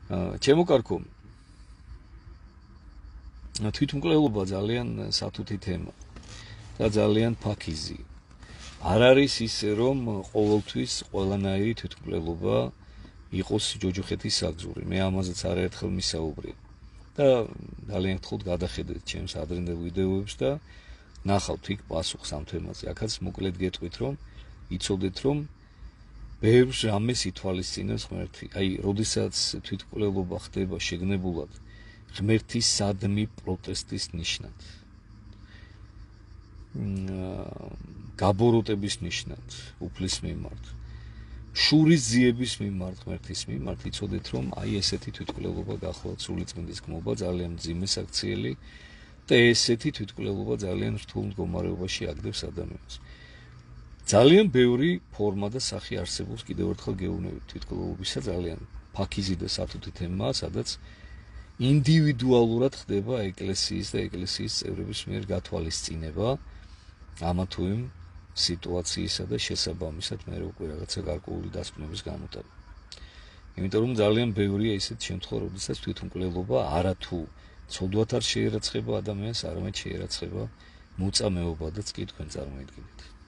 ჩემო კარგო, თვითმკვლელობა ძალიან სათუთი თემა და ძალიან ფაქიზი. არ არის ისე, რომ ყოველთვის ყველანაირი თვითმკვლელობა იყოს ჯოჯოხეთის საგზური. მე ამაზეც არაერთხელ მისაუბრე. და ძალიან გთხოვთ გადახედეთ ჩემს ადრინდელ ვიდეოებს და ნახავთ იქ პასუხს ამ თემაზე. აქაც მოკლედ გეტყვით, რომ იცოდეთ, რომ ბევრს რამეს ითვალისწინებს ღმერთი. აი, როდესაც თვითმკვლელობა ხდება შეგნებულად ღმერთის სადმი პროტესტის ნიშნად. გაბოროტების ნიშნად, უფლის მიმართ. შურის ძიების მიმართ, ღმერთის მიმართ, იცოდეთ, რომ აი ესეთი თვითმკვლელობა გახლავთ სულიწმინდის გმობა, ძალიან მძიმე საქციელი და ესეთი თვითმკვლელობა ძალიან რთულ მდგომარეობაში აგდებს ადამიანს. ძალიან ბევრი ფორმა და სახე არსებობს, კიდევ ერთხელ გეუბნებით, თვითმკვლელობისა ძალიან ფაქიზი და სათუთი თემაა, სადაც ინდივიდუალურად ხდება ეკლესიის და ეკლესიის წევრების მიერ გათვალისწინება ამა თუ იმ სიტუაციისა და შესაბამისად მე უკვე რაღაცა გარკვეული დასკვნების გამოტანა. იმიტომ რომ ძალიან ბევრია ისეთ შემთხვევა, როდესაც თვითმკვლელობა არათუ ცოდვათ არ შეერაცხება ადამიანს, არამედ შეერაცხება მოწამეობადაც კი თქვენ წარმოიდგინეთ.